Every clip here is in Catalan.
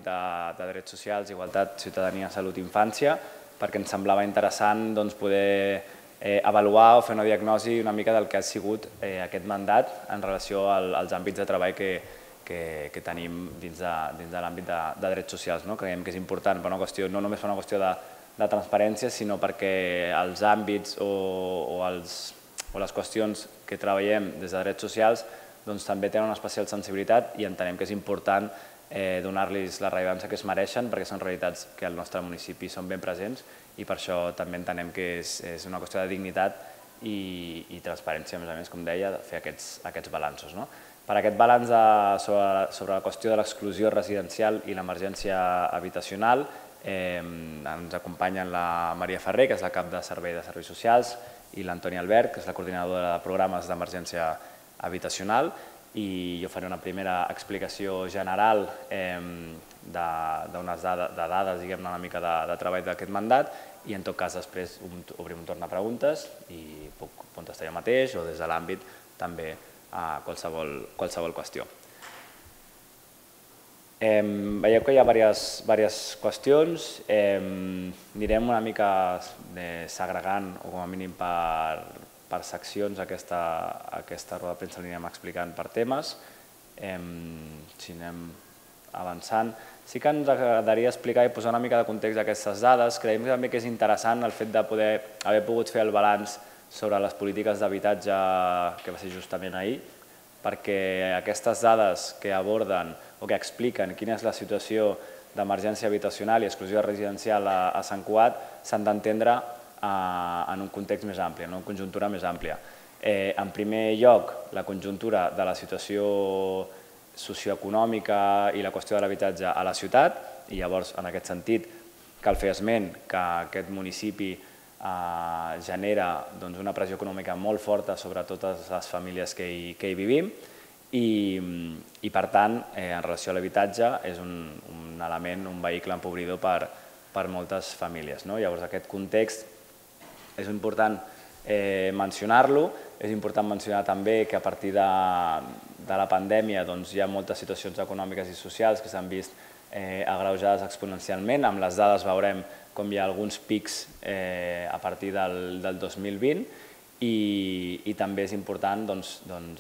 de drets socials, igualtat, ciutadania, salut i infància, perquè ens semblava interessant poder avaluar o fer una diagnosi una mica del que ha sigut aquest mandat en relació als àmbits de treball que tenim dins de l'àmbit de drets socials. Creiem que és important no només per una qüestió de transparència, sinó perquè els àmbits o les qüestions que treballem des de drets socials també tenen una especial sensibilitat i entenem que és important donar-los la rellevància que es mereixen perquè són realitats que al nostre municipi són ben presents i per això també entenem que és una qüestió de dignitat i transparència, a més, com deia, fer aquests balanços. Per aquest balanç sobre la qüestió de l'exclusió residencial i l'emergència habitacional ens acompanyen la Maria Ferrer, que és la cap de Servei de Serveis Socials, i l'Antoni Albert, que és la coordinadora de programes d'emergència habitacional, i jo faré una primera explicació general d'unes dades, diguem-ne, una mica de treball d'aquest mandat i en tot cas després obrim un torn de preguntes i puc contestar jo mateix o des de l'àmbit també a qualsevol qüestió. Veieu que hi ha diverses qüestions, anirem una mica segregant o com a mínim per seccions aquesta roda de premsa l'anirem explicant per temes. Si anem avançant, sí que ens agradaria explicar i posar una mica de context d'aquestes dades. Creiem també que és interessant el fet de poder haver pogut fer el balanç sobre les polítiques d'habitatge que va ser justament ahir, perquè aquestes dades que aborden o que expliquen quina és la situació d'emergència habitacional i exclusió residencial a Sant Cugat s'han d'entendre en un context més ampli, en una conjuntura més àmplia. En primer lloc, la conjuntura de la situació socioeconòmica i la qüestió de l'habitatge a la ciutat, i llavors, en aquest sentit, cal fer esment que aquest municipi genera una pressió econòmica molt forta sobre totes les famílies que hi vivim i, per tant, en relació a l'habitatge, és un element, un vehicle empobridor per moltes famílies. Llavors, aquest context és important mencionar-lo. És important mencionar també que a partir de la pandèmia hi ha moltes situacions econòmiques i socials que s'han vist agreujades exponencialment. Amb les dades veurem com hi ha alguns pics a partir del 2020 i també és important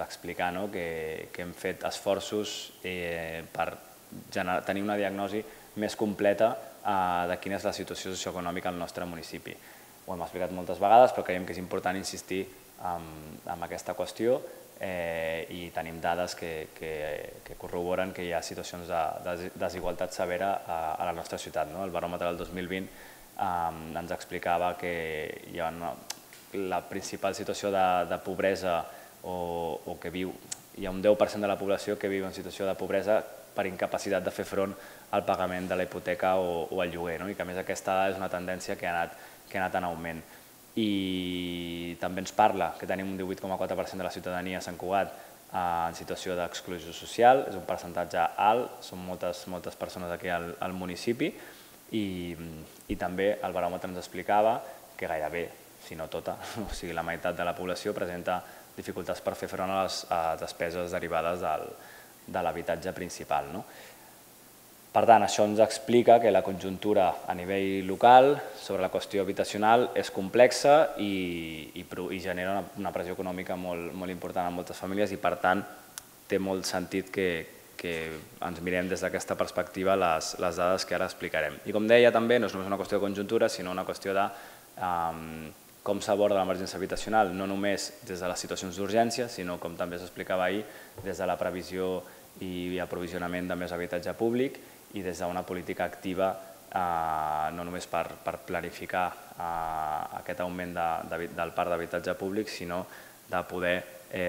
explicar que hem fet esforços per tenir una diagnosi més completa de quina és la situació socioeconòmica al nostre municipi. Ho hem explicat moltes vegades, però creiem que és important insistir en aquesta qüestió i tenim dades que corroboren que hi ha situacions de desigualtat severa a la nostra ciutat. El baròmetre del 2020 ens explicava que hi ha la principal situació de pobresa o que hi ha un 10% de la població que viu en situació de pobresa per incapacitat de fer front al pagament de la hipoteca o al lloguer, i que a més aquesta és una tendència que ha anat en augment. I també ens parla que tenim un 18,4% de la ciutadania a Sant Cugat en situació d'exclusió social, és un percentatge alt, són moltes persones aquí al municipi i també el baròmetre ens explicava que gairebé, si no tota, o sigui la meitat de la població presenta dificultats per fer front a les despeses derivades de l'habitatge principal. Per tant, això ens explica que la conjuntura a nivell local sobre la qüestió habitacional és complexa i genera una pressió econòmica molt important en moltes famílies i, per tant, té molt sentit que ens mirem des d'aquesta perspectiva les dades que ara explicarem. I com deia també, no és només una qüestió de conjuntura, sinó una qüestió de com s'aborda l'emergència habitacional, no només des de les situacions d'urgència, sinó, com també s'explicava ahir, des de la previsió i aprovisionament de més habitatge públic i des d'una política activa no només per planificar aquest augment del parc d'habitatge públic, sinó de poder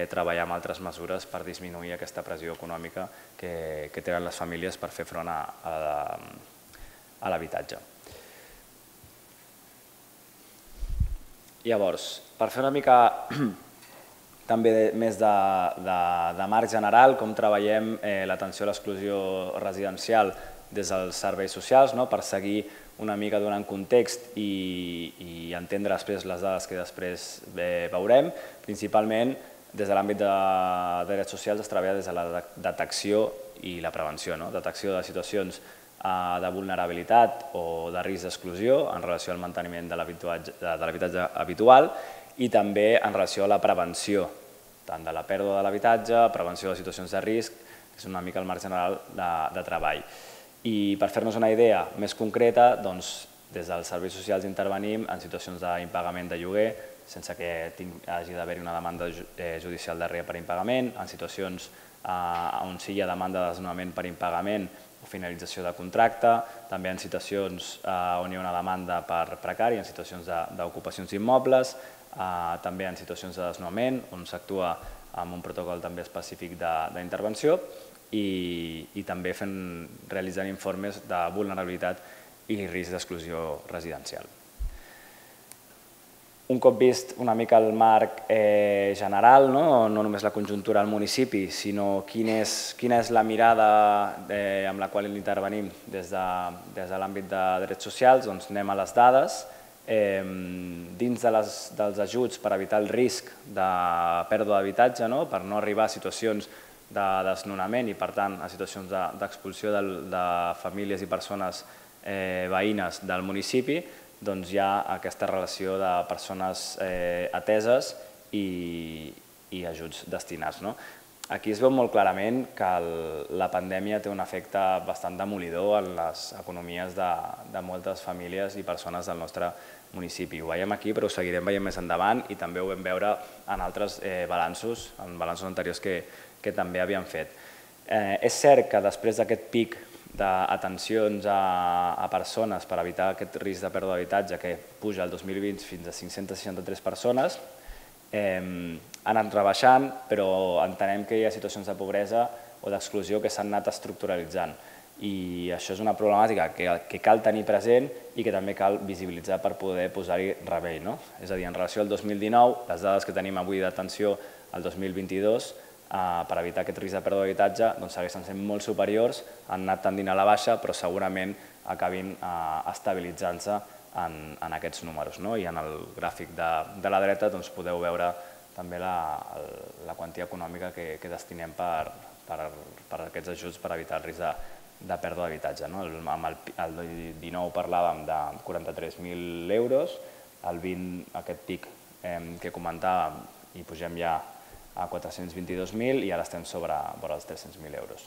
treballar amb altres mesures per disminuir aquesta pressió econòmica que tenen les famílies per fer front a l'habitatge. Llavors, per fer una mica també més de marc general, com treballem l'atenció a l'exclusió residencial des dels serveis socials, per seguir una mica donant context i entendre després les dades que després veurem. Principalment, des de l'àmbit de drets socials es treballa des de la detecció i la prevenció, detecció de situacions de vulnerabilitat o de risc d'exclusió en relació al manteniment de l'habitatge habitual i també en relació a la prevenció, tant de la pèrdua de l'habitatge, prevenció de situacions de risc, que és una mica el marc general de treball. I per fer-nos una idea més concreta, des dels serveis socials intervenim en situacions d'impagament de lloguer, sense que hagi d'haver-hi una demanda judicial darrere per impagament, en situacions on sí hi ha demanda de desnonament per impagament o finalització de contracte, també en situacions on hi ha una demanda per precari, en situacions d'ocupacions immobles, també en situacions de desnonament, on s'actua amb un protocol també específic d'intervenció i també realitzant informes de vulnerabilitat i risc d'exclusió residencial. Un cop vist una mica el marc general, no només la conjuntura al municipi, sinó quina és la mirada amb la qual intervenim des de l'àmbit de drets socials, doncs anem a les dades. Dins dels ajuts per evitar el risc de pèrdua d'habitatge, per no arribar a situacions de desnonament i, per tant, a situacions d'expulsió de famílies i persones veïnes del municipi, doncs hi ha aquesta relació de persones ateses i ajuts destinats. Aquí es veu molt clarament que la pandèmia té un efecte bastant demolidor en les economies de moltes famílies i persones del nostre municipi. Ho veiem aquí, però ho seguirem veient més endavant i també ho vam veure en altres balanços, en balanços anteriors que també havíem fet. És cert que després d'aquest pic d'atencions a persones per evitar aquest risc de pèrdua d'habitatge que puja el 2020 fins a 563 persones, ha anat rebaixant, però entenem que hi ha situacions de pobresa o d'exclusió que s'han anat estructuralitzant. I això és una problemàtica que cal tenir present i que també cal visibilitzar per poder posar-hi remei. És a dir, en relació al 2019, les dades que tenim avui d'atenció al 2022, per evitar aquest risc de pèrdua d'habitatge, segueixen sent molt superiors, han anat tendint a la baixa, però segurament acabin estabilitzant-se en aquests números. I en el gràfic de la dreta podeu veure també la quantia econòmica que destinem per aquests ajuts per evitar el risc de pèrdua d'habitatge. El 19 parlàvem de 43.000 euros, el 20 aquest pic que comentàvem i pugem ja a 422.000 i ara estem sobre els 300.000 euros.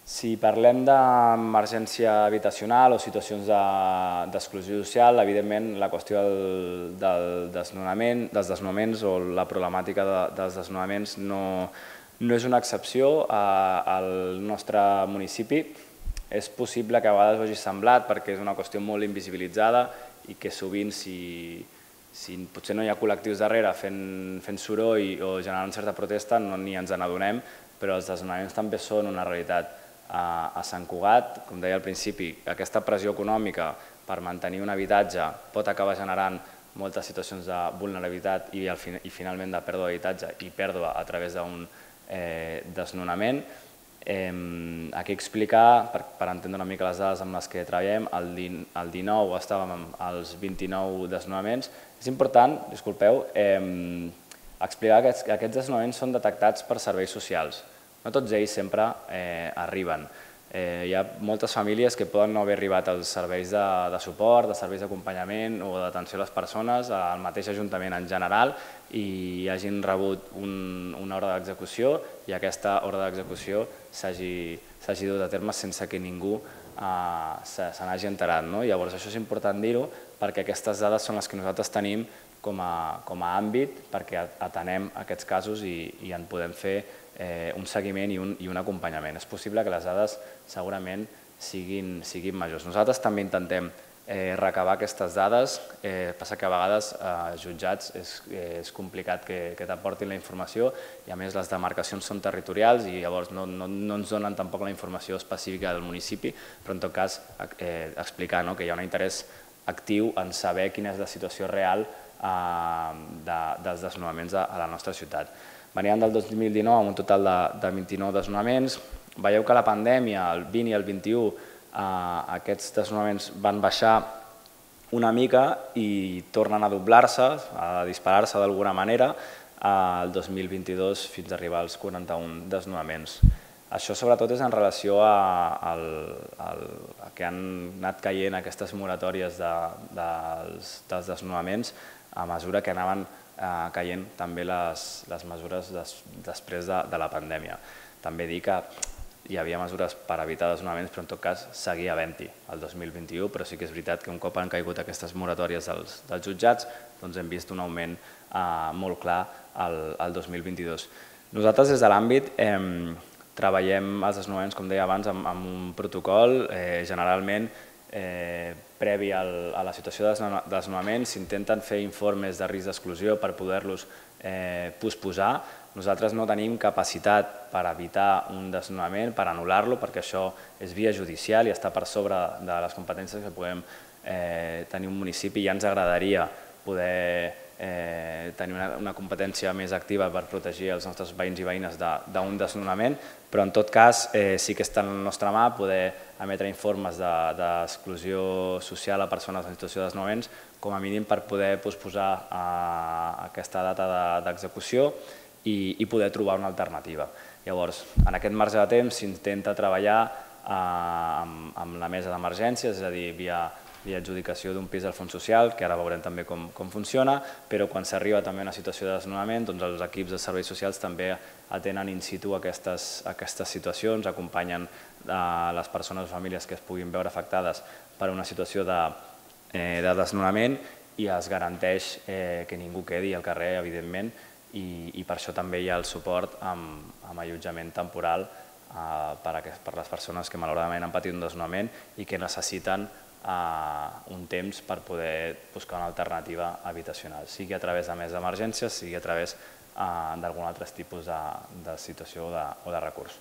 Si parlem d'emergència habitacional o situacions d'exclusió social, evidentment la qüestió dels desnonaments o la problemàtica dels desnonaments no és una excepció al nostre municipi. És possible que a vegades ho hagi semblat perquè és una qüestió molt invisibilitzada i que sovint si potser no hi ha col·lectius darrere fent soroll o generant certa protesta ni ens n'adonem, però els desnonaments també són una realitat. A Sant Cugat, com deia al principi, aquesta pressió econòmica per mantenir un habitatge pot acabar generant moltes situacions de vulnerabilitat i finalment de pèrdua d'habitatge i pèrdua a través d'un desnonament. Aquí explicar, per entendre una mica les dades amb les que treballem, el 19 estàvem als 29 desnonaments. És important, disculpeu, explicar que aquests desnonaments són detectats per serveis socials. No tots ells sempre arriben. Hi ha moltes famílies que poden no haver arribat als serveis de suport, de serveis d'acompanyament o d'atenció a les persones, al mateix ajuntament en general, i hagin rebut una ordre d'execució i aquesta ordre d'execució s'hagi dut a terme sense que ningú se n'hagi enterat. Llavors això és important dir-ho perquè aquestes dades són les que nosaltres tenim com a àmbit perquè atenem aquests casos i en podem fer un seguiment i un acompanyament. És possible que les dades segurament siguin majors. Nosaltres també intentem recabar aquestes dades, passa que a vegades als jutjats és complicat que t'aportin la informació i a més les demarcacions són territorials i llavors no ens donen tampoc la informació específica del municipi, però en tot cas explicar que hi ha un interès actiu en saber quina és la situació real dels desnonaments a la nostra ciutat. Veníem del 2019 amb un total de 29 desnonaments. Veieu que la pandèmia, el 20 i el 21, aquests desnonaments van baixar una mica i tornen a doblar-se, a disparar-se d'alguna manera, el 2022 fins a arribar als 41 desnonaments. Això sobretot és en relació a que han anat caient aquestes moratòries dels desnonaments a mesura que anaven caient també les mesures després de la pandèmia. També dir que hi havia mesures per evitar desnonaments, però en tot cas seguia havent-hi el 2021, però sí que és veritat que un cop han caigut aquestes moratòries dels jutjats, doncs hem vist un augment molt clar al 2022. Nosaltres des de l'àmbit treballem els desnonaments, com deia abans, amb un protocol, generalment previ a la situació de desnonament s'intenten fer informes de risc d'exclusió per poder-los posposar. Nosaltres no tenim capacitat per evitar un desnonament, per anul·lar-lo, perquè això és via judicial i està per sobre de les competències que podem tenir un municipi. Ja ens agradaria poder tenir una competència més activa per protegir els nostres veïns i veïnes d'un desnonament, però en tot cas sí que està en la nostra mà poder emetre informes d'exclusió social a persones en situació de desnonaments, com a mínim per poder posposar aquesta data d'execució i poder trobar una alternativa. Llavors, en aquest marge de temps s'intenta treballar amb la mesa d'emergències, és a dir, via adjudicació d'un pis al fons social, que ara veurem també com funciona, però quan s'arriba també a una situació de desnonament, doncs els equips de serveis socials també atenen in situ aquestes situacions, acompanyen les persones o famílies que es puguin veure afectades per una situació de desnonament i es garanteix que ningú quedi al carrer, evidentment, i per això també hi ha el suport amb allotjament temporal per a les persones que malauradament han patit un desnonament i que necessiten un temps per poder buscar una alternativa habitacional, sigui a través de més d'emergències, sigui a través d'algun altre tipus de situació o de recurs.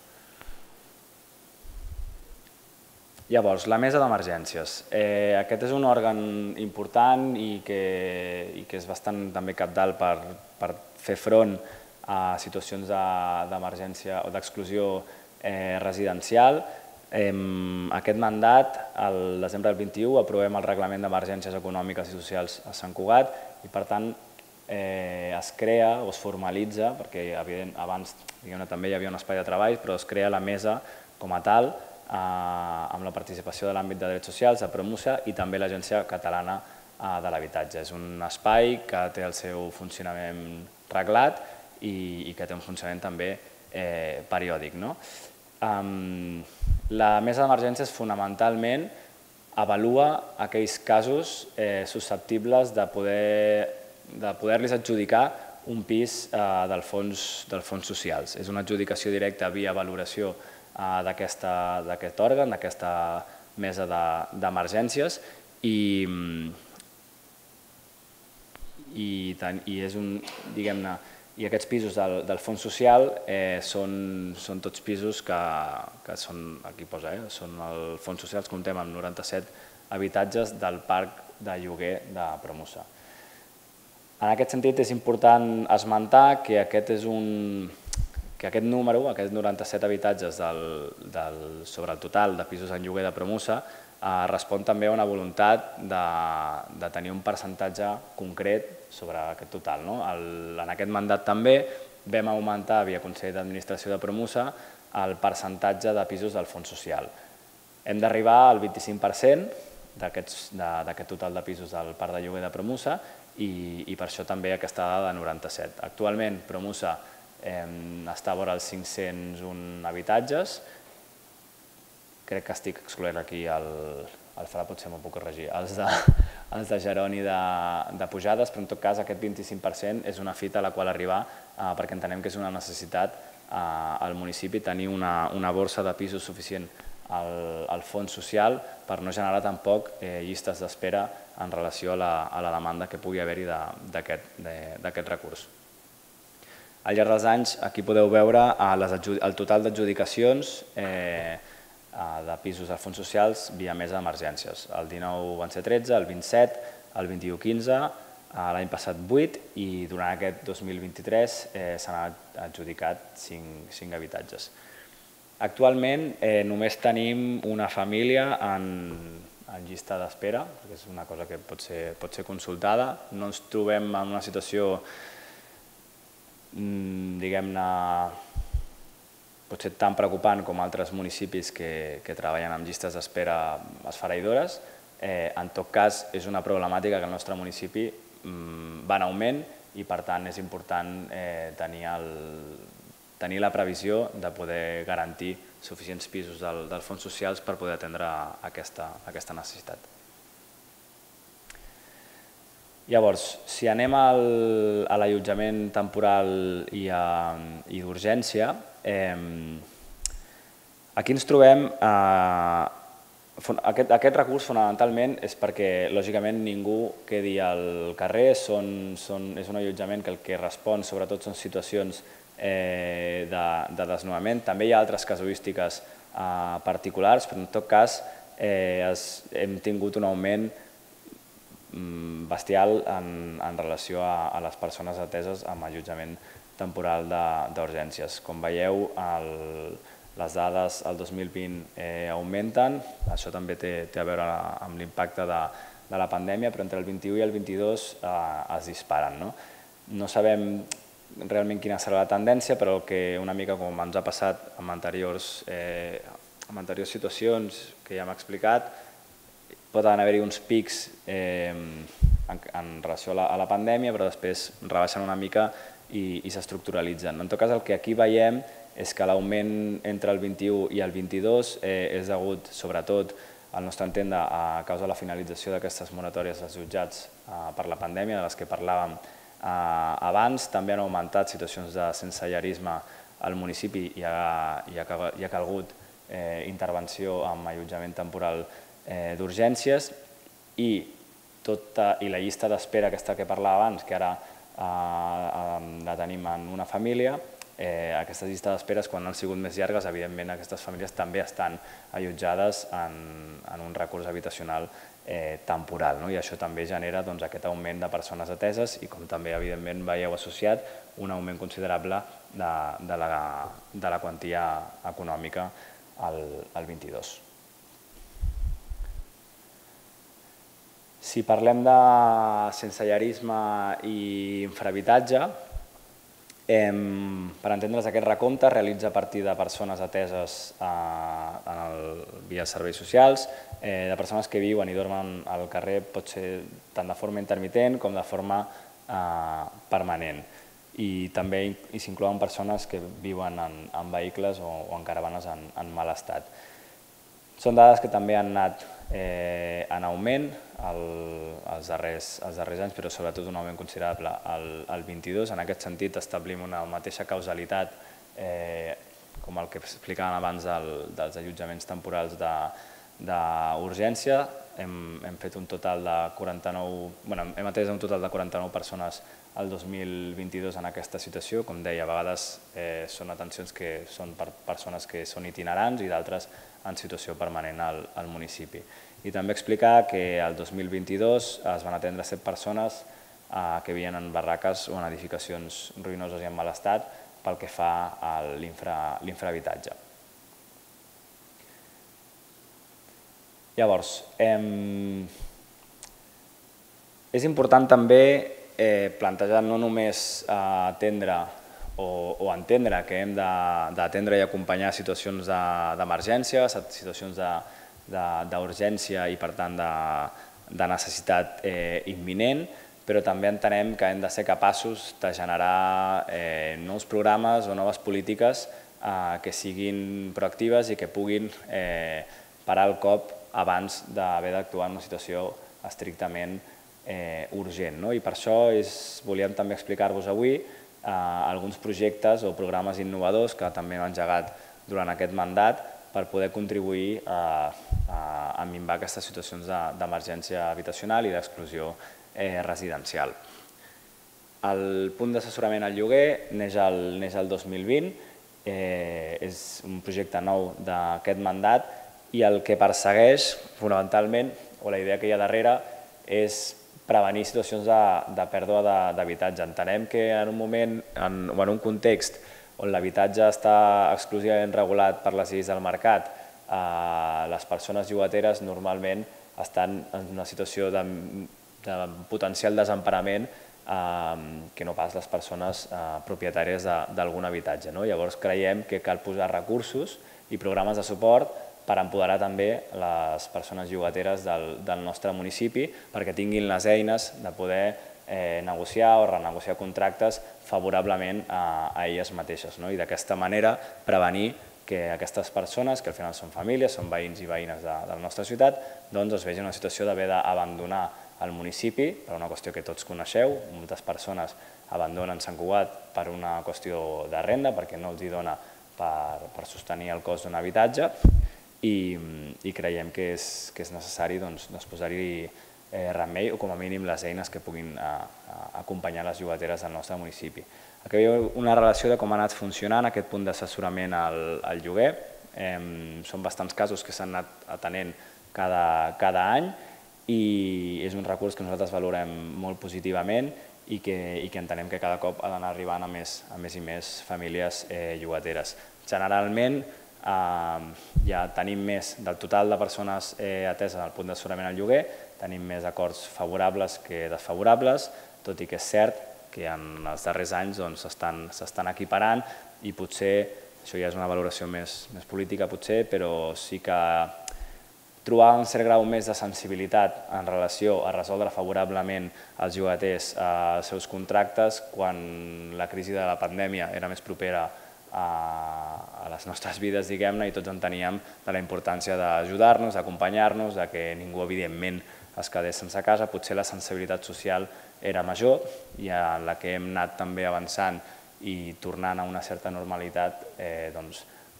Llavors, la mesa d'emergències. Aquest és un òrgan important i que és bastant també cabdal per fer front a situacions d'emergència o d'exclusió residencial. Aquest mandat, el desembre del 21, aprovem el Reglament d'Emergències Econòmiques i Socials a Sant Cugat i, per tant, es crea o es formalitza, perquè abans també hi havia un espai de treball, però es crea la mesa com a tal, amb la participació de l'àmbit de drets socials, de Promusa i també l'Agència Catalana de l'Habitatge. És un espai que té el seu funcionament reglat i que té un funcionament també periòdic. La mesa d'emergències fonamentalment avalua aquells casos susceptibles de poder-los adjudicar un pis dels fons socials. És una adjudicació directa via valoració d'aquest òrgan, d'aquesta mesa d'emergències i aquests pisos del fons social són tots pisos que són, aquí posa, són el fons social, comptem amb 97 habitatges del parc de lloguer de Promusa. En aquest sentit és important esmentar que aquest número, aquests 97 habitatges sobre el total de pisos en lloguer de Promusa, respon també a una voluntat de tenir un percentatge concret sobre aquest total. En aquest mandat també vam augmentar, via Consell d'Administració de Promusa, el percentatge de pisos del fons social. Hem d'arribar al 25% d'aquest total de pisos del parc de lloguer de Promusa i per això també aquesta dada de 97. Actualment Promusa està a vora els 501 habitatges. Crec que estic excloent aquí el Fra, potser m'ho puc corregir, els de Geroni de Pujades, però en tot cas aquest 25% és una fita a la qual arribar perquè entenem que és una necessitat al municipi tenir una borsa de pisos suficient al fons social per no generar tampoc llistes d'espera en relació a la demanda que pugui haver-hi d'aquest recurs. Al llarg dels anys aquí podeu veure el total d'adjudicacions de pisos als fons socials via mesa d'emergències. El 19 van ser 13, el 27, el 21 15, l'any passat 8 i durant aquest 2023 s'han adjudicat 5 habitatges. Actualment només tenim una família en llista d'espera, perquè és una cosa que pot ser consultada. No ens trobem en una situació, diguem-ne, potser tan preocupant com altres municipis que treballen amb llistes d'espera esfereïdores. En tot cas, és una problemàtica que el nostre municipi va en augment i per tant és important tenir la previsió de poder garantir suficients pisos dels fons socials per poder atendre aquesta necessitat. Llavors, si anem a l'allotjament temporal i d'urgència, aquí ens trobem... Aquest recurs fonamentalment és perquè, lògicament, ningú quedi al carrer, és un allotjament que el que respon sobretot són situacions de desnonament. També hi ha altres casuístiques particulars, però en tot cas hem tingut un augment bestial en relació a les persones ateses amb allotjament temporal d'urgències. Com veieu, les dades al 2020 augmenten, això també té a veure amb l'impacte de la pandèmia, però entre el 21 i el 22 es disparen. No sabem realment quina serà la tendència, però que una mica com ens ha passat en anteriors situacions que ja hem explicat, poden haver-hi uns pics en relació a la pandèmia, però després rebaixen una mica i s'estructuralitzen. En tot cas, el que aquí veiem és que l'augment entre el 21 i el 22 és degut, sobretot, al nostre entendre, a causa de la finalització d'aquestes moratòries dels jutjats per la pandèmia, de les que parlàvem abans. També han augmentat situacions de sensellarisme al municipi i ha calgut intervenció amb allotjament temporal d'urgències i la llista d'espera aquesta que parlava abans, que ara la tenim en una família, aquestes llistes d'espera, quan han sigut més llargues, evidentment aquestes famílies també estan allotjades en un recurs habitacional temporal, i això també genera aquest augment de persones ateses i, com també evidentment veieu associat, un augment considerable de la quantia econòmica al 22. Si parlem de sensellarisme i infrahabitatge, per entendre's, aquest recompte es realitza a partir de persones ateses via serveis socials, de persones que viuen i dormen al carrer, pot ser tant de forma intermitent com de forma permanent. I també s'inclouen persones que viuen en vehicles o en caravanes en mal estat. Són dades que també han anat en augment els darrers anys, però sobretot un augment considerable al 22. En aquest sentit, establim una mateixa causalitat com el que explicàvem abans dels allotjaments temporals d'urgència. Hem fet un total de 49, hem atès un total de 49 persones el 2022 en aquesta situació. Com deia, a vegades són atencions que són per persones que són itinerants i d'altres en situació permanent al municipi. I també explicar que el 2022 es van atendre 7 persones que vivien en barraques o en edificacions ruïnoses i en mal estat pel que fa a l'infrahabitatge. Llavors, és important també plantejar no només atendre o entendre que hem d'atendre i acompanyar situacions d'emergència, situacions d'urgència i, per tant, de necessitat imminent, però també entenem que hem de ser capaços de generar nous programes o noves polítiques que siguin proactives i que puguin parar el cop abans d'haver d'actuar en una situació estrictament urgent. I per això volíem també explicar-vos avui alguns projectes o programes innovadors que també hem engegat durant aquest mandat per poder contribuir a minvar aquestes situacions d'emergència habitacional i d'exclusió residencial. El punt d'assessorament al lloguer neix el 2020, és un projecte nou d'aquest mandat i el que persegueix fonamentalment, o la idea que hi ha darrere, és prevenir situacions de pèrdua d'habitatge. Entenem que en un moment o en un context on l'habitatge està exclusivament regulat per les lleis del mercat, les persones llogateres normalment estan en una situació de potencial desemparament que no pas les persones propietàries d'algun habitatge. Llavors creiem que cal posar recursos i programes de suport per empoderar també les persones llogateres del nostre municipi perquè tinguin les eines de poder negociar o renegociar contractes favorablement a elles mateixes i d'aquesta manera prevenir que aquestes persones, que al final són famílies, són veïns i veïnes de la nostra ciutat, doncs es vegin en una situació d'haver d'abandonar el municipi per una qüestió que tots coneixeu. Moltes persones abandonen Sant Cugat per una qüestió de renda, perquè no els hi dona per sostenir el cost d'un habitatge i creiem que és necessari posar-hi remei o com a mínim les eines que puguin acompanyar les llogateres del nostre municipi. Aquí hi ha una relació de com ha anat funcionant aquest punt d'assessorament al lloguer. Són bastants casos que s'han anat atenent cada any i és un recurs que nosaltres valorem molt positivament i que entenem que cada cop ha d'anar arribant a més i més famílies llogateres. Generalment ja tenim més del total de persones ateses al punt d'assessorament al lloguer, tenim més acords favorables que desfavorables, tot i que és cert que en els darrers anys s'estan equiparant i potser, això ja és una valoració més política potser, però sí que trobar un cert grau més de sensibilitat en relació a resoldre favorablement els llogaters els seus contractes quan la crisi de la pandèmia era més propera a les nostres vides, diguem-ne, i tots enteníem de la importància d'ajudar-nos, d'acompanyar-nos, que ningú, evidentment, es quedés sense casa. Potser la sensibilitat social era major i en la que hem anat també avançant i tornant a una certa normalitat,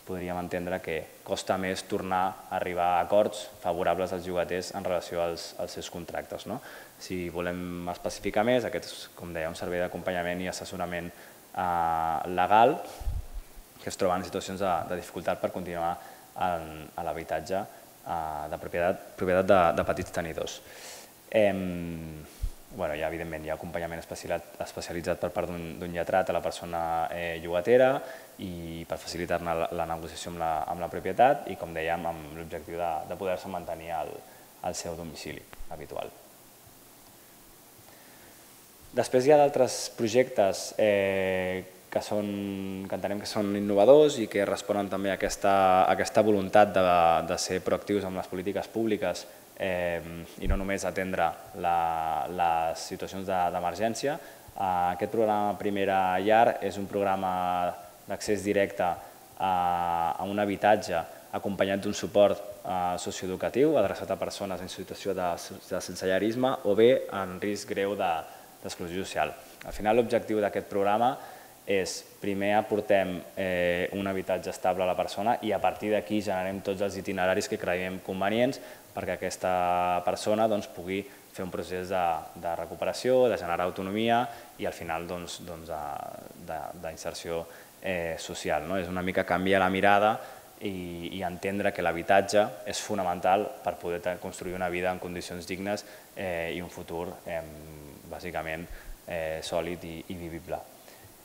podríem entendre que costa més tornar a arribar a acords favorables als llogaters en relació als seus contractes. Si volem especificar més, aquest és, com deia, un servei d'acompanyament i assessorament legal que es troba en situacions de dificultat per continuar a l'habitatge de propietat de petits tenidors. Evidentment, hi ha acompanyament especialitzat per part d'un lletrat a la persona llogatera i per facilitar-ne la negociació amb la propietat i, com dèiem, amb l'objectiu de poder-se mantenir al seu domicili habitual. Després hi ha d'altres projectes que entenem que són innovadors i que responen també a aquesta voluntat de ser proactius amb les polítiques públiques i no només atendre les situacions d'emergència. Aquest programa Primera Llar és un programa d'accés directe a un habitatge acompanyat d'un suport socioeducatiu adreçat a persones en situació de sensellarisme o bé en risc greu d'exclusió social. Al final, l'objectiu d'aquest programa és, primer aportem un habitatge estable a la persona i a partir d'aquí generem tots els itineraris que creiem convenients perquè aquesta persona pugui fer un procés de recuperació, de generar autonomia i al final d'inserció social. És una mica canviar la mirada i entendre que l'habitatge és fonamental per poder construir una vida en condicions dignes i un futur bàsicament sòlid i vivible.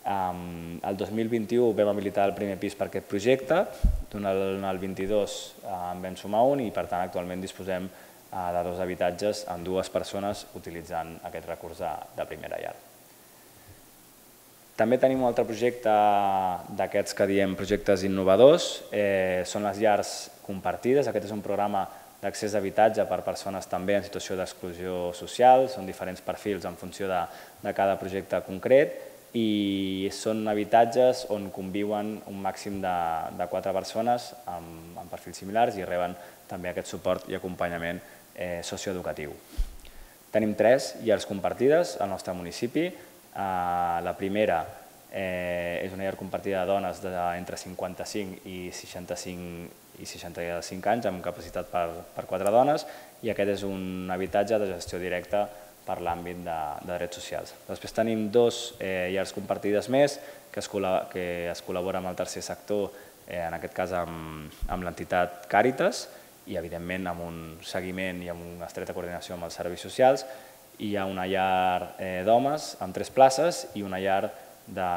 El 2021 vam habilitar el primer pis per aquest projecte, durant el 22 en vam sumar un i per tant actualment disposem de 2 habitatges amb 2 persones utilitzant aquest recurs de Primera Llar. També tenim un altre projecte d'aquests que diem projectes innovadors, són les llars compartides. Aquest és un programa d'accés a habitatge per persones també en situació d'exclusió social, són diferents perfils en funció de cada projecte concret i són habitatges on conviuen un màxim de 4 persones amb perfils similars i reben també aquest suport i acompanyament socioeducatiu. Tenim 3 llars compartides al nostre municipi. La primera és una llar compartida de dones d'entre 55 i 65 anys amb capacitat per 4 dones i aquest és un habitatge de gestió directa per l'àmbit de drets socials. Després tenim 2 llars compartides més que es col·labora amb el tercer sector, en aquest cas amb l'entitat Càritas i evidentment amb un seguiment i amb una estreta coordinació amb els serveis socials. Hi ha una llar d'homes amb 3 places i una llar de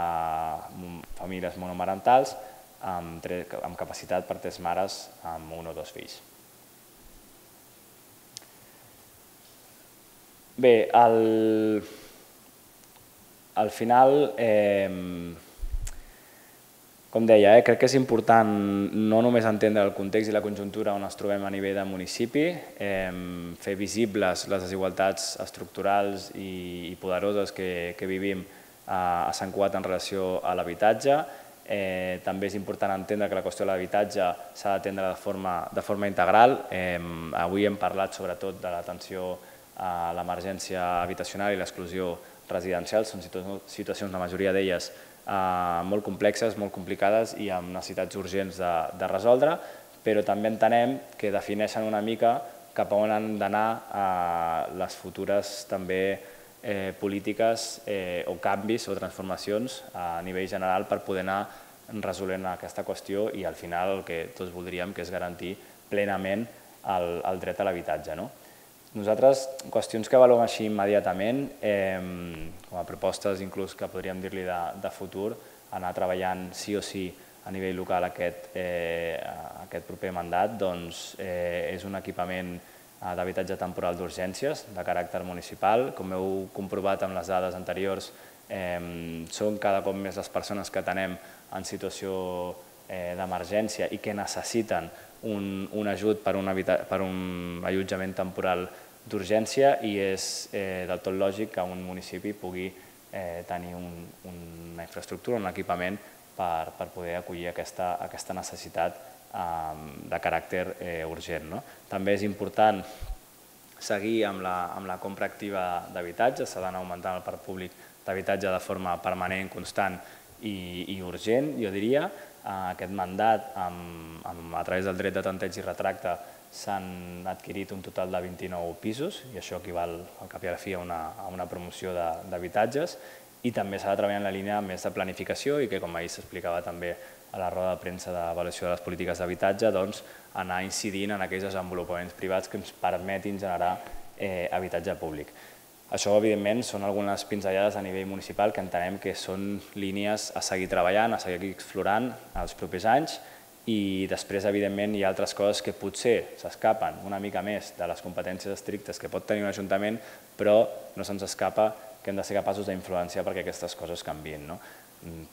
famílies monomarentals amb capacitat per 3 mares amb 1 o 2 fills. Bé, al final, com deia, crec que és important no només entendre el context i la conjuntura on ens trobem a nivell de municipi, fer visibles les desigualtats estructurals i poderoses que vivim a Sant Cugat en relació a l'habitatge. També és important entendre que la qüestió de l'habitatge s'ha d'atendre de forma integral. Avui hem parlat sobretot de l'atenció a l'emergència habitacional i l'exclusió residencial. Són situacions, la majoria d'elles, molt complexes, molt complicades i amb necessitats urgents de resoldre, però també entenem que defineixen una mica cap a on han d'anar les futures també polítiques o canvis o transformacions a nivell general per poder anar resolent aquesta qüestió i al final el que tots voldríem, que és garantir plenament el dret a l'habitatge. Nosaltres, qüestions que avaluem així immediatament, com a propostes inclús que podríem dir-li de futur, anar treballant sí o sí a nivell local aquest proper mandat, és un equipament d'habitatge temporal d'urgències de caràcter municipal. Com heu comprovat amb les dades anteriors, són cada cop més les persones que atenem en situació d'emergència i que necessiten un ajut per un allotjament temporal d'urgència i és del tot lògic que un municipi pugui tenir una infraestructura, un equipament per poder acollir aquesta necessitat de caràcter urgent. També és important seguir amb la compra activa d'habitatge, s'ha d'anar augmentant el parc públic d'habitatge de forma permanent, constant i urgent, jo diria. Aquest mandat, a través del dret de tanteig i retracte, s'han adquirit un total de 29 pisos i això equival al cap i a la fi a una promoció d'habitatges i també s'ha de treballar en la línia més de planificació i que, com ahir s'explicava també a la roda de premsa d'avaluació de les polítiques d'habitatge, anar incidint en aquells desenvolupaments privats que ens permetin generar habitatge públic. Això, evidentment, són algunes pinzellades a nivell municipal que entenem que són línies a seguir treballant, a seguir explorant els propers anys i després, evidentment, hi ha altres coses que potser s'escapen una mica més de les competències estrictes que pot tenir un ajuntament, però no se'ns escapa que hem de ser capaços d'influenciar perquè aquestes coses canviïn.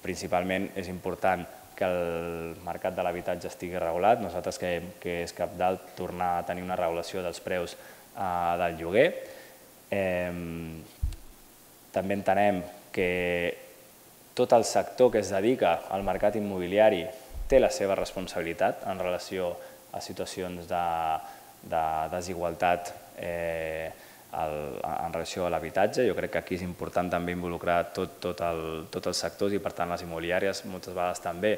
Principalment és important que el mercat de l'habitatge estigui regulat. Nosaltres creiem que és cabdal tornar a tenir una regulació dels preus del lloguer. També entenem que tot el sector que es dedica al mercat immobiliari té la seva responsabilitat en relació a situacions de desigualtat en relació a l'habitatge. Jo crec que aquí és important també involucrar tots els sectors i, per tant, les immobiliàries moltes vegades també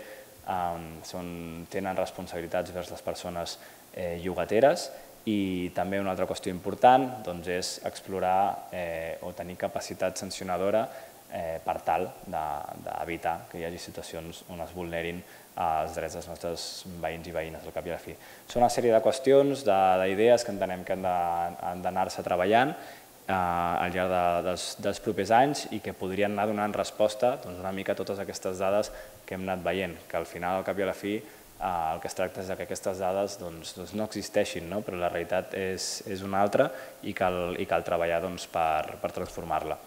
tenen responsabilitats vers les persones llogateres. I també una altra qüestió important és explorar o tenir capacitat sancionadora per tal d'evitar que hi hagi situacions on es vulnerin els drets dels nostres veïns i veïnes, al cap i a la fi. Són una sèrie de qüestions, d'idees que entenem que han d'anar-se treballant al llarg dels propers anys i que podrien anar donant resposta una mica a totes aquestes dades que hem anat veient, que al final, al cap i a la fi, el que es tracta és que aquestes dades no existeixin, però la realitat és una altra i cal treballar per transformar-la.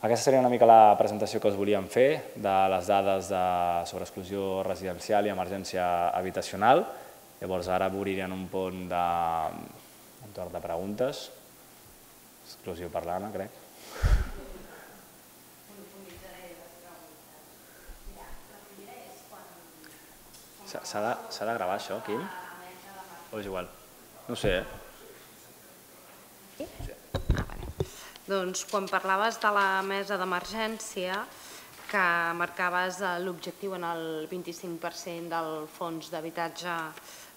Aquesta seria una mica la presentació que us volíem fer de les dades sobre exclusió residencial i emergència habitacional. Llavors ara obririen un pont entorn de preguntes. Exclusió parlant, crec. S'ha de gravar això, Quim? O és igual? No ho sé, Doncs quan parlaves de la mesa d'emergència, que marcaves l'objectiu en el 25% del fons d'habitatge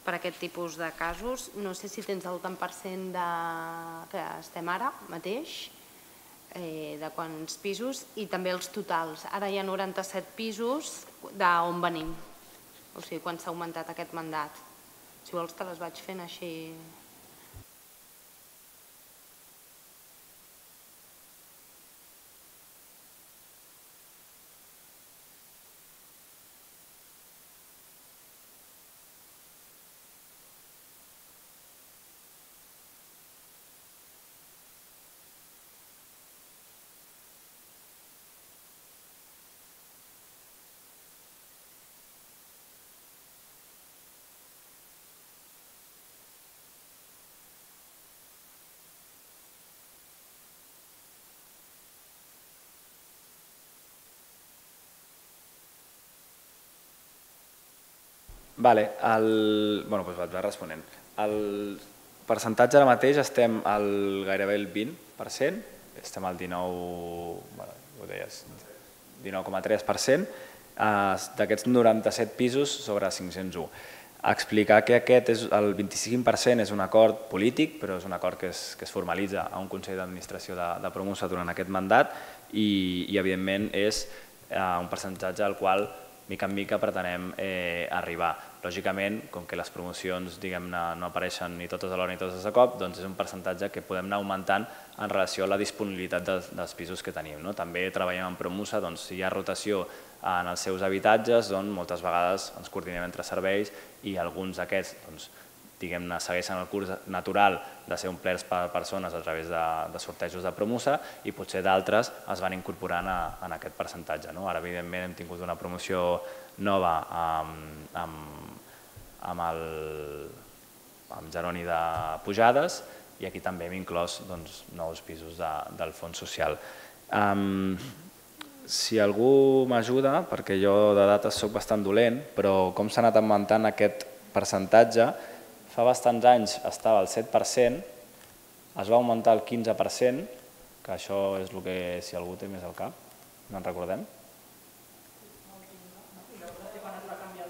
per a aquest tipus de casos, no sé si tens el tant per cent que estem ara mateix, de quants pisos, i també els totals. Ara hi ha 97 pisos d'on venim. O sigui, quan s'ha augmentat aquest mandat. Si vols te les vaig fent així. Vale, doncs vaig responent. El percentatge ara mateix estem gairebé el 20%, estem al 19,3%, d'aquests 97 pisos sobre 501. Explicar que el 25% és un acord polític, però és un acord que es formalitza a un Consell d'Administració de Promusa durant aquest mandat i evidentment és un percentatge al qual mica en mica pretenem arribar. Lògicament, com que les promocions no apareixen ni totes alhora ni totes de cop, doncs és un percentatge que podem anar augmentant en relació a la disponibilitat dels pisos que tenim. També treballem en Promusa, si hi ha rotació en els seus habitatges, moltes vegades ens coordinem entre serveis i alguns d'aquests segueixen el curs natural de ser omplerts per persones a través de sortejos de Promusa i potser d'altres es van incorporant en aquest percentatge. Ara, evidentment, hem tingut una promoció nova amb Jeroni de Pujades i aquí també hem inclòs nous pisos del fons social. Si algú m'ajuda, perquè jo de dates soc bastant dolent, però com s'ha anat augmentant aquest percentatge, fa bastants anys estava al 7%, es va augmentar al 15%, que això és el que, si algú té més al cap, no en recordem?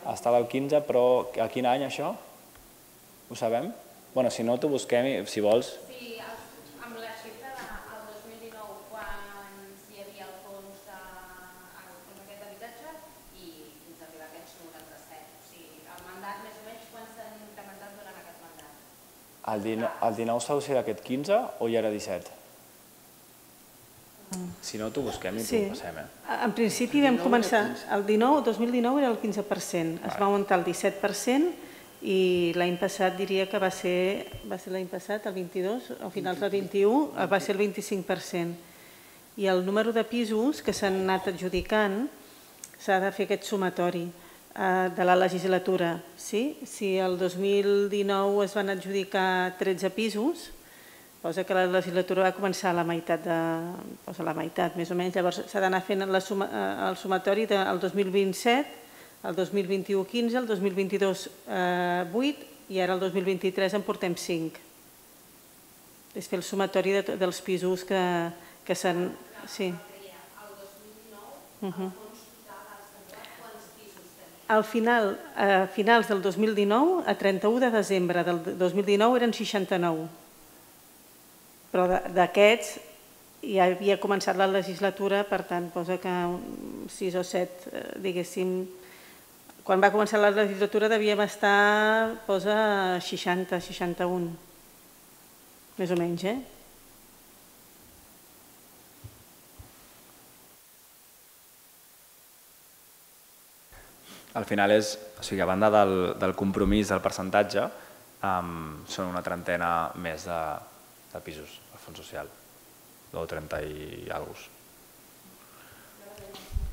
Estava al 15, però a quin any això? Ho sabem? Bé, si no, t'ho busquem, si vols. Sí, amb la xifra del 2019, quan hi havia el fons d'aquest habitatge i fins a arribar a aquests 97. O sigui, el mandat, més o menys, quan s'han incrementat durant aquest mandat? El 19 s'ha de ser d'aquest 15 o ja era 17? Si no, t'ho busquem i t'ho passem. En principi vam començar, el 2019 era el 15%, es va augmentar el 17% i l'any passat diria que va ser l'any passat, el 22, a finals del 21, va ser el 25%. I el número de pisos que s'han anat adjudicant, s'ha de fer aquest sumatori de la legislatura. Si el 2019 es van adjudicar 13 pisos, posa que la legislatura va començar a la meitat, més o menys, llavors s'ha d'anar fent el sumatori del 2027, el 2021 15, el 22 8 i ara el 2023 en portem 5. És fer el sumatori dels pisos que s'han... Sí. El 2019, el fons total ha establert quants pisos tenia? Al final, a finals del 2019, a 31 de desembre del 2019 eren 69. Però d'aquests ja havia començat la legislatura, per tant, posa que 6 o 7, diguéssim, quan va començar la legislatura devíem estar, posa 60, 61, més o menys, Al final és, o sigui, a banda del compromís del percentatge, són una trentena més de pisos al fons social, o 30 i alguna cosa.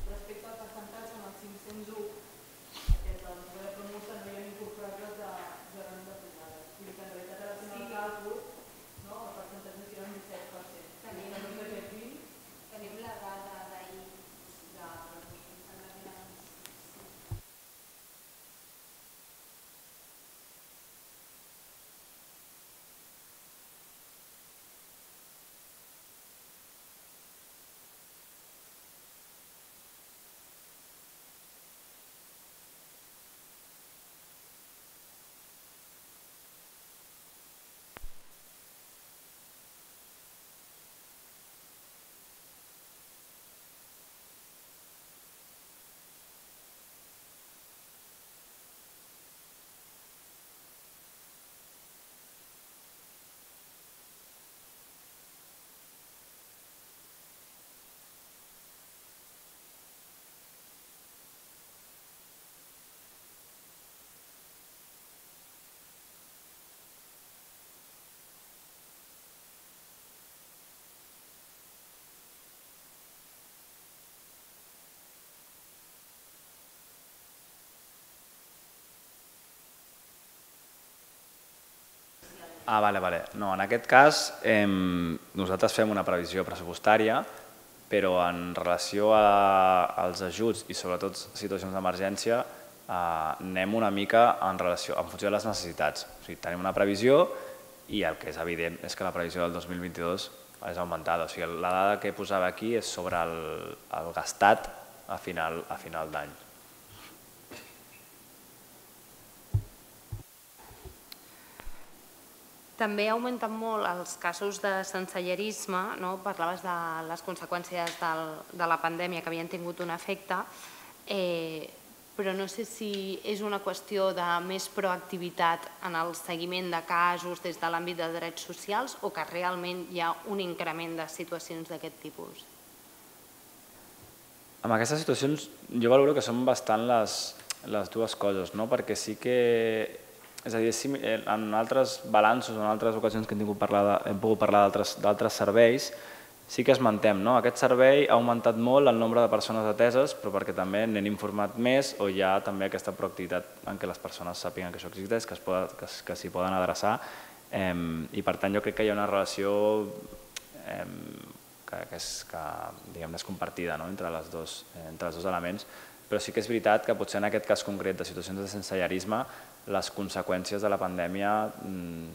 Respecte al percentatge, en el 501, aquest de la Promusa no hi ha incorporat les de Jeroni de Pujades. Vull dir que en realitat ara fent el càlcul, el percentatge serà un 17%. Tenim la dada d'ahir Vale. No, en aquest cas nosaltres fem una previsió pressupostària, però en relació als ajuts i sobretot situacions d'emergència anem una mica en funció de les necessitats. O sigui, tenim una previsió i el que és evident és que la previsió del 2022 és augmentada. O sigui, la dada que posava aquí és sobre el gastat a final d'any. També augmenten molt els casos de sensellarisme, parlaves de les conseqüències de la pandèmia que havien tingut un efecte, però no sé si és una qüestió de més proactivitat en el seguiment de casos des de l'àmbit de drets socials o que realment hi ha un increment de situacions d'aquest tipus. En aquestes situacions jo valoro que són bastant les dues coses, perquè sí que, és a dir, en altres balanços, en altres ocasions que hem pogut parlar d'altres serveis, sí que esmentem, aquest servei ha augmentat molt el nombre de persones ateses, però perquè també n'hem informat més o hi ha també aquesta proactivitat en què les persones sàpiguen que això existeix, que s'hi poden adreçar, i per tant jo crec que hi ha una relació que és compartida entre els dos elements, però sí que és veritat que potser en aquest cas concret de situacions de sensellarisme les conseqüències de la pandèmia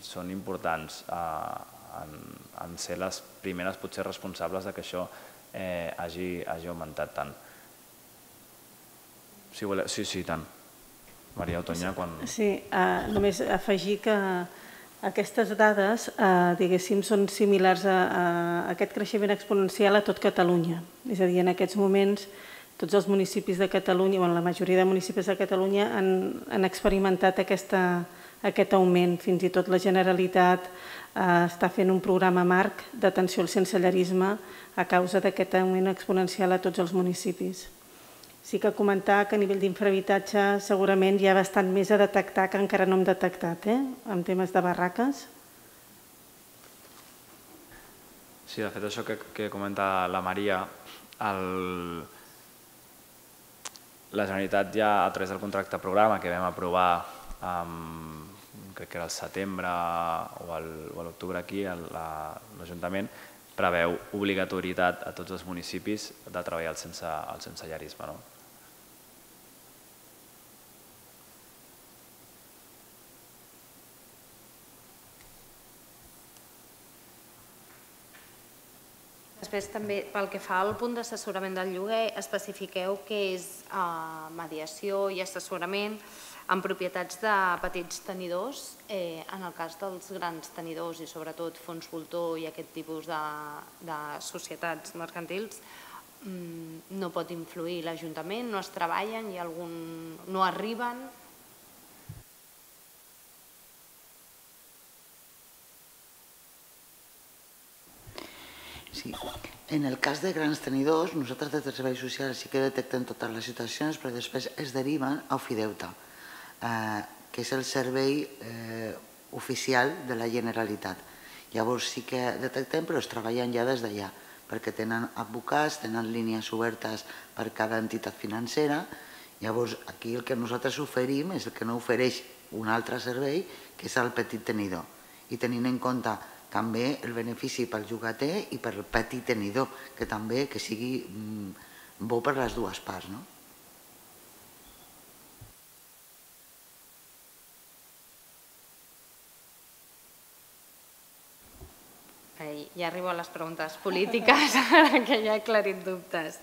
són importants en ser les primeres potser responsables que això hagi augmentat tant. Sí, tant. Maria Otoña, quan... Sí, només afegir que aquestes dades, diguéssim, són similars a aquest creixement exponencial a tot Catalunya. És a dir, en aquests moments tots els municipis de Catalunya, la majoria de municipis de Catalunya han experimentat aquest augment. Fins i tot la Generalitat està fent un programa marc d'atenció al sensellarisme a causa d'aquest augment exponencial a tots els municipis. Sí que comentar que a nivell d'infrahabitatge segurament hi ha bastant més a detectar que encara no hem detectat, en temes de barraques. Sí, de fet això que comenta la Maria, la Generalitat ja a través del contracte programa que vam aprovar, crec que era el setembre o l'octubre aquí, l'Ajuntament, preveu obligatorietat a tots els municipis de treballar el sensellarisme. Després també, pel que fa al punt d'assessorament del lloguer, especifiqueu que és mediació i assessorament en propietats de petits tenidors. En el cas dels grans tenidors i sobretot fons voltor i aquest tipus de societats mercantils, no pot influir l'Ajuntament, no es treballen, no arriben. Sí. En el cas de grans tenidors, nosaltres des dels serveis socials sí que detectem totes les situacions, però després es deriven a Ofideute, que és el servei oficial de la Generalitat. Llavors sí que detectem, però es treballen ja des d'allà, perquè tenen advocats, tenen línies obertes per cada entitat financera. Llavors aquí el que nosaltres oferim és el que no ofereix un altre servei, que és el petit tenidor. I tenint en compte també el benefici pel llogater i pel petit tenidor, que també que sigui bo per les dues parts. Ja arribo a les preguntes polítiques, que ja he aclarit dubtes.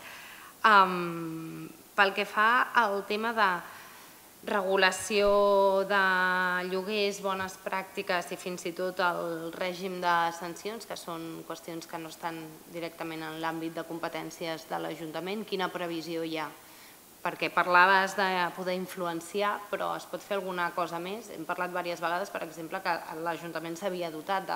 Pel que fa al tema de regulació de lloguers, bones pràctiques i fins i tot el règim de sancions, que són qüestions que no estan directament en l'àmbit de competències de l'Ajuntament, quina previsió hi ha? Perquè parlaves de poder influenciar, però es pot fer alguna cosa més? Hem parlat diverses vegades, per exemple, que l'Ajuntament s'havia dotat,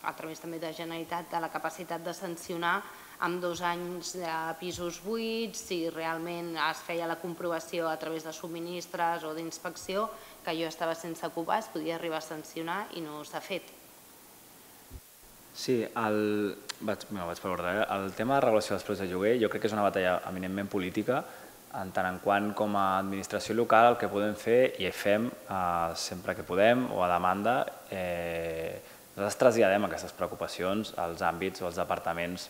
a través també de Generalitat, de la capacitat de sancionar amb 2 anys de pisos buits, si realment es feia la comprovació a través de subministres o d'inspecció, que jo estava sense ocupar, es podia arribar a sancionar i no s'ha fet. Sí, vaig per ordre. El tema de regulació dels preus de lloguer jo crec que és una batalla eminentment política, en tant en quant com a administració local el que podem fer i fem sempre que podem o a demanda, nosaltres traslladem aquestes preocupacions als àmbits o als departaments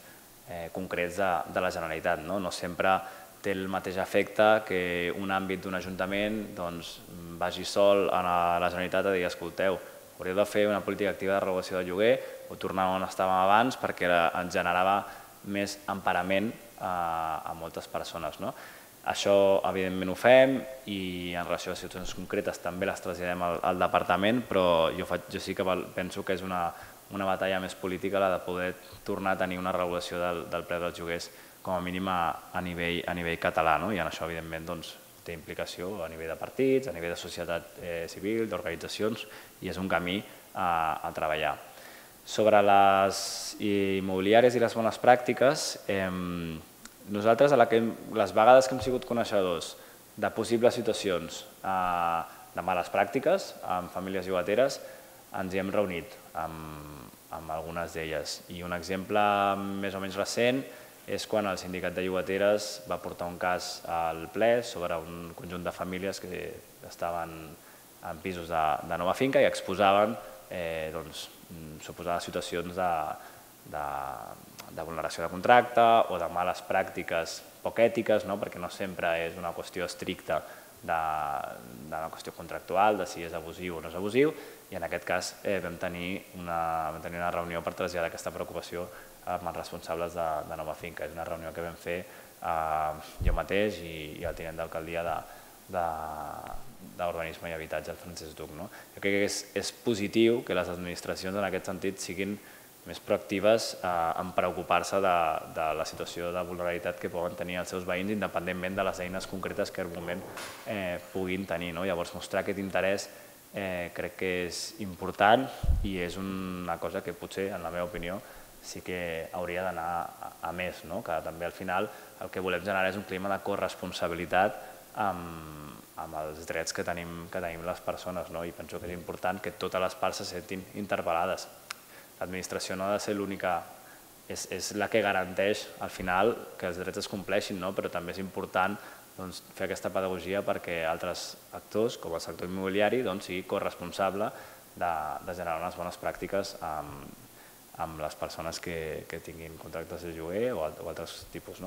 concrets de la Generalitat. No sempre té el mateix efecte que un àmbit d'un ajuntament vagi sol a la Generalitat a dir, escolteu, hauríeu de fer una política activa de regulació de lloguer o tornar on estàvem abans perquè ens generava més emparament a moltes persones. Això, evidentment, ho fem i en relació a situacions concretes també les traslladem al departament, però jo sí que penso que és una batalla més política la de poder tornar a tenir una regulació del preu dels lloguers com a mínim a nivell català, i en això, evidentment, té implicació a nivell de partits, a nivell de societat civil, d'organitzacions, i és un camí a treballar. Sobre les immobiliàries i les bones pràctiques, nosaltres, les vegades que hem sigut coneixedors de possibles situacions de males pràctiques amb famílies llogateres, ens hi hem reunit amb algunes d'elles. I un exemple més o menys recent és quan el sindicat de llogateres va portar un cas al ple sobre un conjunt de famílies que estaven en pisos de nova finca i exposaven suposades situacions de vulneració de contracte o de males pràctiques poc ètiques, perquè no sempre és una qüestió estricta d'una qüestió contractual, de si és abusiu o no és abusiu, i en aquest cas vam tenir una reunió per traslladar aquesta preocupació amb els responsables de nova finca. És una reunió que vam fer jo mateix i el tinent d'alcaldia d'Urbanisme i Habitatge, el Francesc Duc. Jo crec que és positiu que les administracions en aquest sentit siguin més proactives en preocupar-se de la situació de vulnerabilitat que poden tenir els seus veïns independentment de les eines concretes que en un moment puguin tenir. Llavors, mostrar aquest interès crec que és important i és una cosa que potser, en la meva opinió, sí que hauria d'anar a més, que també al final el que volem generar és un clima de corresponsabilitat amb els drets que tenim les persones, i penso que és important que totes les parts se sentin interpel·lades. L'administració no ha de ser l'única, és la que garanteix al final que els drets es compleixin, però també és important fer aquesta pedagogia perquè altres actors, com el sector immobiliari, sigui corresponsable de generar unes bones pràctiques amb les persones que tinguin contractes de lloguer o altres tipus.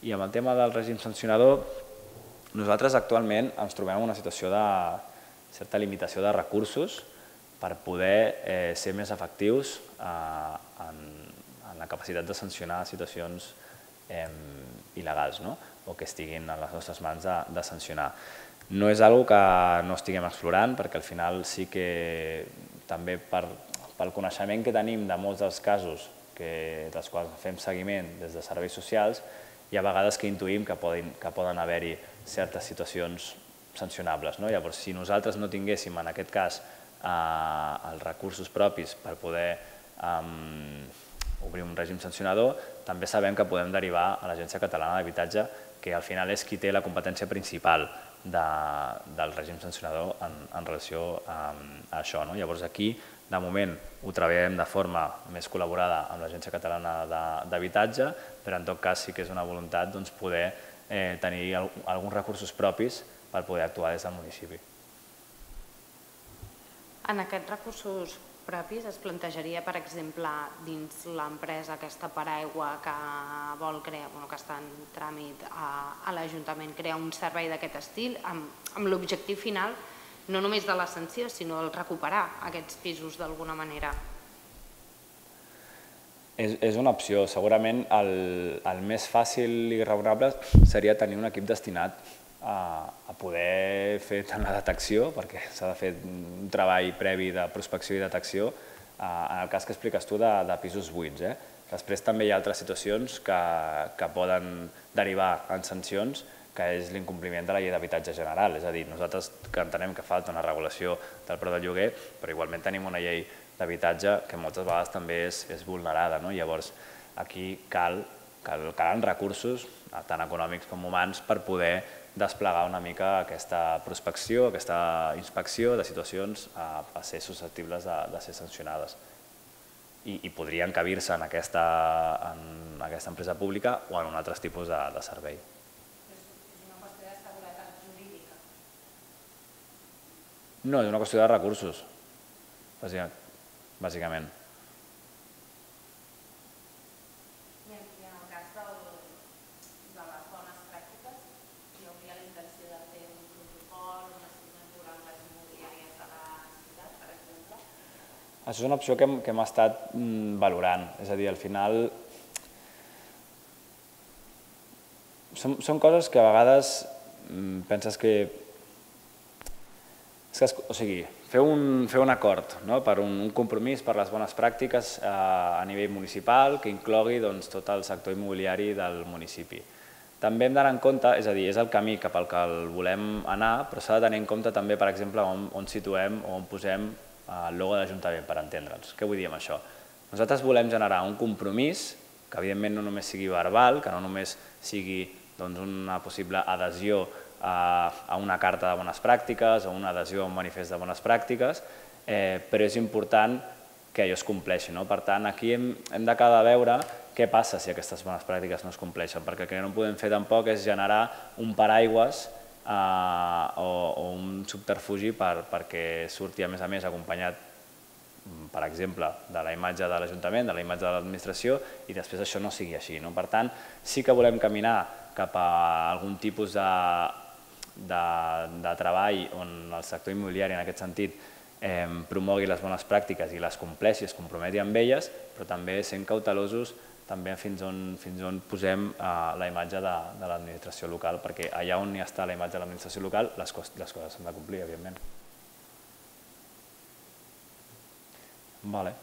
I amb el tema del règim sancionador, nosaltres actualment ens trobem en una situació de certa limitació de recursos per poder ser més efectius en la capacitat de sancionar situacions il·legals o que estiguin a les nostres mans de sancionar. No és una cosa que no estiguem explorant perquè al final sí que també pel coneixement que tenim de molts dels casos dels quals fem seguiment des de serveis socials, hi ha vegades que intuïm que poden haver-hi certes situacions sancionables. Llavors, si nosaltres no tinguéssim en aquest cas els recursos propis per poder obrir un règim sancionador, també sabem que podem derivar a l'Agència Catalana d'Habitatge, que al final és qui té la competència principal del règim sancionador en relació a això. Llavors aquí, de moment, ho treballem de forma més col·laborada amb l'Agència Catalana d'Habitatge, però en tot cas sí que és una voluntat poder tenir alguns recursos propis per poder actuar des del municipi. En aquests recursos propis es plantejaria, per exemple, dins l'empresa aquesta paraigua que vol crear, que està en tràmit a l'Ajuntament, crear un servei d'aquest estil amb l'objectiu final no només de la sanció, sinó el recuperar aquests pisos d'alguna manera? És una opció. Segurament el més fàcil i raonable seria tenir un equip destinat a poder fer tant la detecció, perquè s'ha de fer un treball previ de prospecció i detecció, en el cas que expliques tu de pisos buits. Després també hi ha altres situacions que poden derivar en sancions, que és l'incompliment de la llei d'habitatge general. És a dir, nosaltres que entenem que falta una regulació del preu del lloguer, però igualment tenim una llei d'habitatge que moltes vegades també és vulnerada. Llavors, aquí calen recursos, tant econòmics com humans, per poder desplegar una mica aquesta prospecció, aquesta inspecció de situacions a ser susceptibles de ser sancionades. I podrien encabir-se en aquesta empresa pública o en un altre tipus de servei. És una qüestió de seguretat jurídica. No, és una qüestió de recursos, bàsicament. I en el cas de les bones pràctiques, Això és una opció que hem estat valorant, és a dir, al final són coses que a vegades penses que... O sigui, fer un acord per un compromís per les bones pràctiques a nivell municipal que inclogui tot el sector immobiliari del municipi. També hem d'anar en compte, és a dir, és el camí cap al que el volem anar, però s'ha de tenir en compte també, per exemple, on situem o on posem el logo de l'Ajuntament, per entendre'ns. Què vull dir amb això? Nosaltres volem generar un compromís que evidentment no només sigui verbal, que no només sigui una possible adhesió a una carta de bones pràctiques o una adhesió a un manifest de bones pràctiques, però és important que allò es compleixi. Per tant, aquí hem d'acabar de veure què passa si aquestes bones pràctiques no es compleixen, perquè el que no podem fer tampoc és generar un paraigües o un subterfugi perquè surti a més acompanyat, per exemple, de la imatge de l'Ajuntament, de la imatge de l'administració, i després això no sigui així. Per tant, sí que volem caminar cap a algun tipus de treball on el sector immobiliari, en aquest sentit, promogui les bones pràctiques i les compleixi, es comprometi amb elles, però també sent cautelosos també fins on posem la imatge de l'administració local, perquè allà on hi està la imatge de l'administració local, les coses s'han de complir, evidentment. Vale.